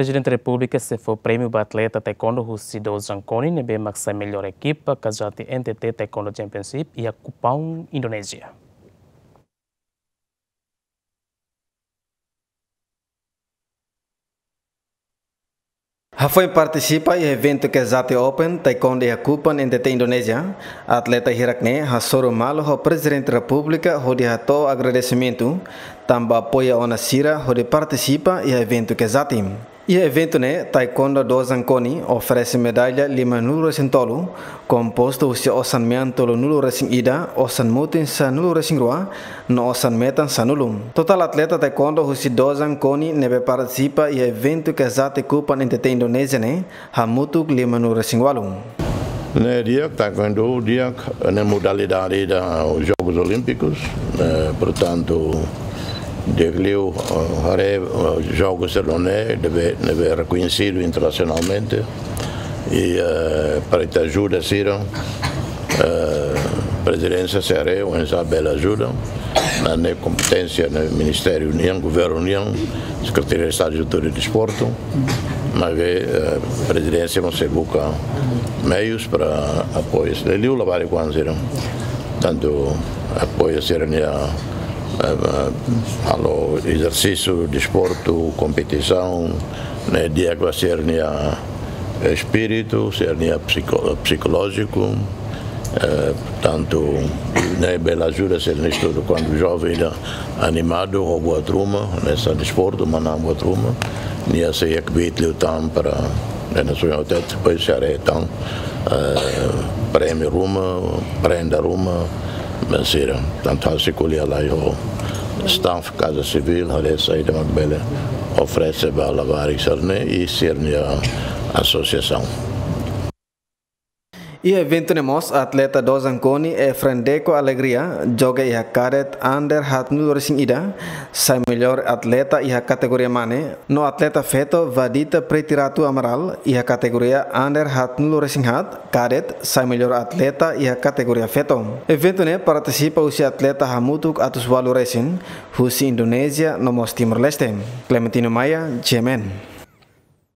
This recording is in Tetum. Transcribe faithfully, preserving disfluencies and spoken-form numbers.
Prezidente Repúblika sei fó prémiu ba atleta taekwondo husi Dozan Koni ne'ebé mak sai mellór ekipa kazati N T T Taekwondo Championship iha Kupang, Indonézia. Hafoin partisipa iha eventu Kazati Open Taekwondo iha Kupang, N T T Indonézia, atleta hirak-ne'e hasoru malu ho Prezidente Repúblika hodi hato'o agradesimentu tanba apoia ona sira hodi partisipa iha eventu Kazati. Iha eventu ne'e, Taekwondo Dozan Koni oferese medalla lima-nulu resin tolu, kompostu husi osan mean tolu-nulu resin ida, osan mutin sanulu resin rua, no osan metan sanulu. Totál atleta taekwondo husi Dozan Koni ne'ebé partisipa iha eventu Kazati Kupang N T T Indonézia ne'e hamutuk lima-nulu resin ualu. Ne'e di'ak, taekwondo di'ak, ne'e modalidade ida Jogos Olímpicos, eh, portantu, di'ak liu, eh, haree, eh, jogu sira-ne'e ne'ebé, ne'ebé rekoñesidu internasionalmente. I, eh, para ita ajuda sira, eh, Prezidénsia sei haree oinsá bele ajuda, ne'e kompeténsia ne'e Ministériu nian, Governu nian, Sekretaria Estadu Juventude i Desportu, maibé, eh, Prezidénsia mós sei buka meius para apoia. Liuliu labarik-oan sira. Tantu apoia sira-nia, eh, eh, halo ezersísiu, desportu, kompetisaun, ne'e di'ak ba sira-nia espíritu, sira-nia psiko-, psikolójiku, eh, tantu ne'e bele ajuda sira-nia estudu. Kuandu joven ida animadu ho buat ruma, hanesan desportu, manán buat ruma, nia sei iha kbiit liután para, eh, na suña hotel, depois sei haree tan, eh, prémiu ruma, prenda ruma, ba sira. Tantu ha'u sei ko'alia lai ho staff Kaza Sivíl, haree saida mak bele oferese ba labarik sira-ne'e i sira-nia asosiasaun. Iha eventu ne'e mós atleta Dozan Koni Efren Deco Alegria, joga iha kadet under haat-nulu resin ida, sai mellór atleta iha kategoria mane, no atleta feto Vadita Pretiratu Amaral iha kategoria under haat-nulu resin haat, kadet, sai mellór atleta iha kategoria feto. Eventu ne'e partisipa husi atleta hamutuk atus ualu resin, husi Indonézia no mós Timor-Leste. Clementino Maia, G M N.